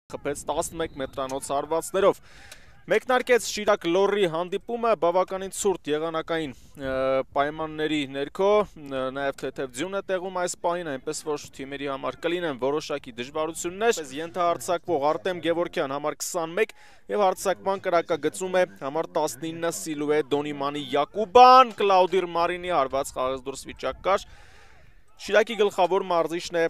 Խփեց 11 մետրանոց հարվածներով։ Մեկնարկեց Շիրակ Լորի հանդիպումը բավականին ցուրտ եղանակային պայմանների ներքո, նաև թեթև ձյուն է տեղում այս պահին, այնպես որ թիմերի համար կլինեն որոշակի դժվարություններ։ Ենթահարձակվող Արտեմ Գևորգյան համար 21 եւ հարձակման կրակագծում է համար 19 Սիլուե Դոնիմանի Յակուբան, Կլաուդիր Մարինի հարված խաղից դուրս վիճակ կար։ Շիրակի գլխավոր մարզիչն է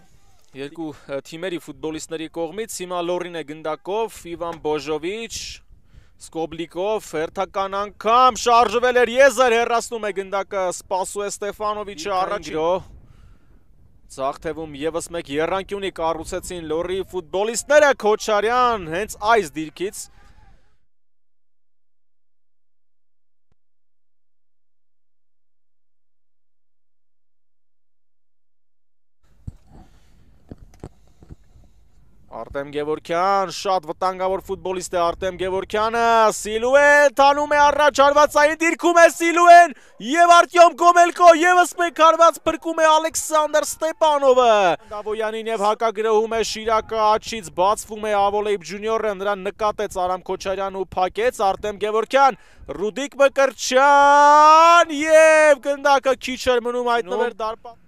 երկու թիմերի ֆուտբոլիստների կողմից, հիմա Լորին է գնդակով, Իվան Բոժովիչ, Սկոբլիկով, հերթական անգամ շարժվել էր Եզեր, հեռացնում է գնդակը Սպասուե Ստեֆանովիչը առաջ։ Ձախ թևում ևս մեկ եռանկյունի կառուցեցին Լորի ֆուտբոլիստները, Քոչարյան հենց այս դիրքից Արտեմ Գևորգյան, շատ վտանգավոր ֆուտբոլիստ է Արտեմ Գևորգյանը, Սիլուեն տանում է առաջ, հարվածային դիրքում է Սիլուեն և Արտյոմ Գոմելկո, ևս մեկ հարված փրկում է Ալեքսանդր Ստեպանովը։ Դավոյանին և հակագրոհում է Շիրակը, աչից բացվում է Ավոլեիբ ջունիորը, նրան նկատեց Արամ Քոչարյան ու փակեց, Արտեմ Գևորգյան, Ռուդիկ Մկրտչյան և գնդակը քիչ էր մնում հայտնվեր դարպան։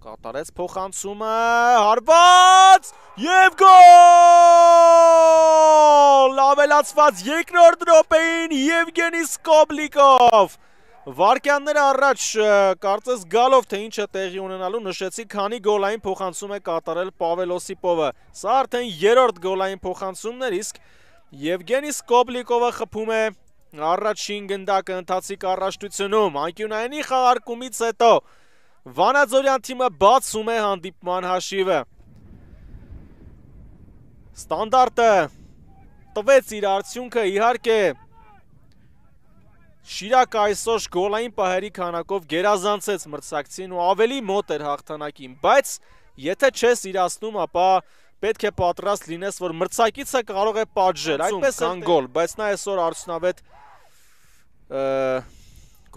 Կատարեց փոխանցումը, հարված և գոլ! Ավելացված երկրորդ րոպեին Եվգենի Սկոբլիկով։ Վարկյանները առաջ կարծես գալով, թե ինչ է տեղի ունենալու, նշեցի, քանի գոլային փոխանցում է կատարել Պավել Օսիպովը։ Սա արդեն երրորդ գոլային փոխանցումն էր, իսկ Եվգենի Սկոբլիկովը խփում է առաջին գնդակը ընթացիկ առաջնությունում։ Անկյունայինի խաղարկումից հետո Վանաձորյան թիմը բացում է հանդիպման հաշիվը։ Ստանդարտը տվեց իր արդյունքը, իհարկե Շիրակը այսօր գոլային պահերի քանակով գերազանցեց մրցակցին ու ավելի մոտ էր հաղթանակին, բայց եթե չես իրացնում, ապա պետք է պատրաստ լինես, որ մրցակիցը կարող է պատժել, այդպես կան գոլ, բայց նա այսօր արդյունավետ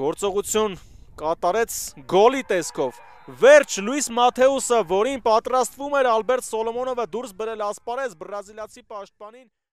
գործողություն կատարեց գոլի տեսքով։ Վերջ Լուիս Մաթեուսը, որին պատրաստվում էր Ալբերտ Սոլոմոնովը դուրս բերել ասպարեզ բրազիլացի պաշտպանին